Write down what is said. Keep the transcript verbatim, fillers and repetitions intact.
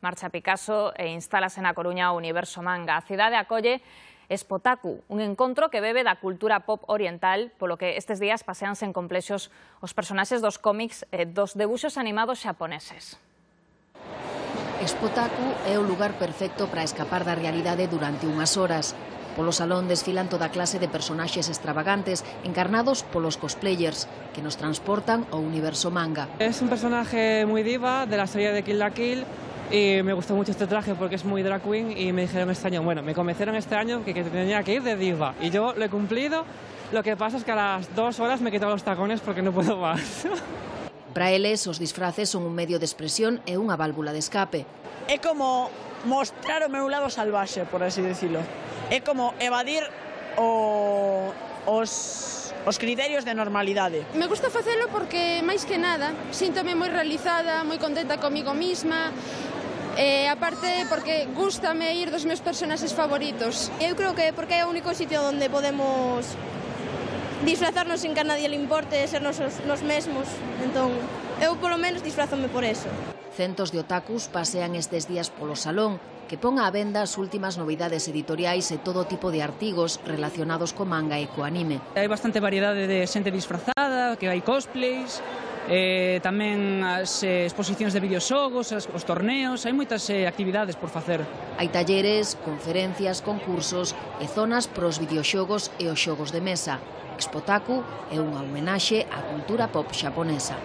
marcha Picasso e instálase na Coruña o Universo Manga. A cidade acolle Expotaku, un encontro que bebe da cultura pop oriental, polo que estes días paseanse en complexos os personaxes dos cómics e dos debuxos animados xaponeses. Expotaku é o lugar perfecto para escapar da realidade durante unhas horas. Polo salón desfilan toda clase de personaxes extravagantes encarnados polos cosplayers que nos transportan ao universo manga. Es un personaje muy diva de la serie de Kill la Kill y me gustó mucho este traje porque es muy drag queen y me dijeron este año, bueno, me convencieron este año que, que tenía que ir de diva y yo lo he cumplido. Lo que pasa es que a las dos horas me he quitado los tacones porque no puedo más. Para eles, os disfraces son un medio de expresión e unha válvula de escape. É como mostrar o meu lado salvaxe, por así decirlo. É como evadir o, os, os criterios de normalidade. Me gusta facelo porque, máis que nada, síntome moi realizada, moi contenta comigo misma, e aparte porque gústame ir dos meus personaxes favoritos. Eu creo que porque é o único sitio onde podemos disfrazarnos sin que a nadie le importe, ser nos, nos mesmos. Entón, eu polo menos disfrazome por eso. Centos de otakus pasean estes días polo salón, que pon á venda as últimas novidades editoriais e todo tipo de artigos relacionados co manga e co anime. Hai bastante variedade de xente disfrazada, que hai cosplays, eh, tamén as eh, exposicións de videoxogos, as, os torneos, hai moitas eh, actividades por facer. Hai talleres, conferencias, concursos e zonas pros videoxogos e os xogos de mesa. Expotaku é unha homenaxe á cultura pop xaponesa.